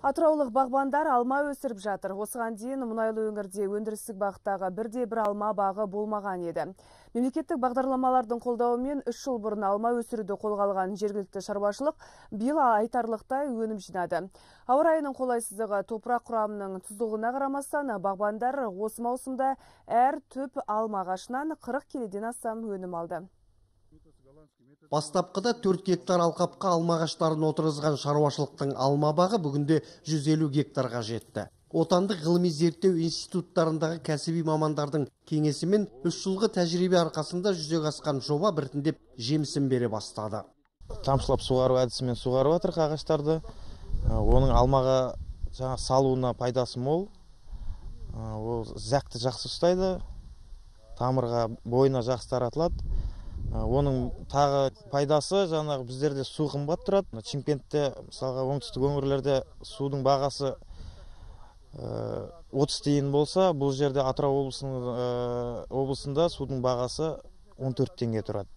Атыраулық бағбандар алма өсіріп жатыр. Осыған дейін мұнайлы өңірде өндірістік бағыттағы бір алма бағы болмаған еді. Мемлекеттік бағдарламалардың қолдауымен 3 жыл бұрын алма өсіруді қолға алған жергілікті шаруашылық биыл айтарлықтай өнім жинады. Ауа райының қолайсыздығы, топырақ құрамының тұздылығына қарамастан, бағбандар осы маусымда әр түп алма ағашынан 40 келіден астам өнім алды. Бастапқыда 4 гектар алқапқа алма ағаштарын отырғызған шаруашылықтың алма бағы бүгінде 150 гектарға жетті. Отандық ғылыми зерттеу институттарындағы кәсіби мамандардың кеңесімен 3 жылғы тәжірибе арқасында жүзеге асқан жоба біртіндеп жемісін бере бастады. Тамшылап суғару әдісімен суғарып жатыр ағаштарды. Оның алмаға салуына пайдасы мол. Ол зәкті жақсы ұстайды, тамырға бойына жақсы таратылады. Оның тағы пайдасы жаңағы біздерде су қымбат тұрады. Шымкентте, мысалға оңтүстік өңірлерде судың бағасы 30 тиын болса, бұл жерде Атырау облысында судың бағасы 14 теңге тұрады.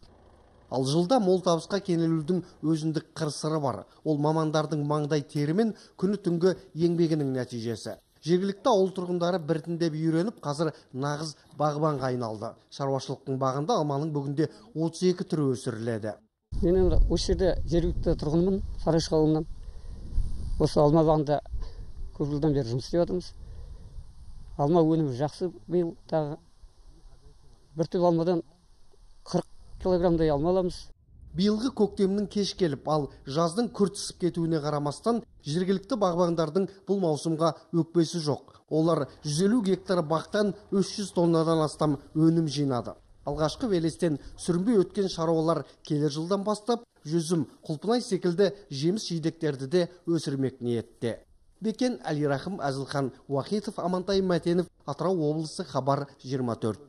Ал жылда мол табысқа кенелудің өзіндік қыр-сыры бар. Ол мамандардың маңдай терімен күні түнгі еңбегінің нәтижесі. Жергілікті ауыл тұрғындары біртіндеп үйреніп, қазір нағыз бағбанға айналды. Шаруашылықтың бағында алманың бүгінде 32 түрі өсіріледі. Мен енді осы жерде жергілікті тұрғынмын, Сарайшық ауылынан. Осы алма бағында көп жылдан бері жұмыс істеп жатырмыз. Алма өнімі жақсы, биыл тағы бір түп алмадан 40 килограммдай алма аламыз. Биылғы көктемнің кеш келіп, ал жаздың күрт ысып кетуіне қарамастан, жергілікті бағбандардың бұл маусымға өкпесі жоқ. Олар 150 гектар бақтан 300 тоннадан астам өнім жинады. Алғашқы велестен сүрінбей өткен шаруалар келер жылдан бастап жүзім, құлпынай секілді жеміс жидектерді де өсірмек ниетте. Бекен Әлирахым, Әзілхан Уахитов, Амантай Мәтенов, Атырау облысы, Хабар 24.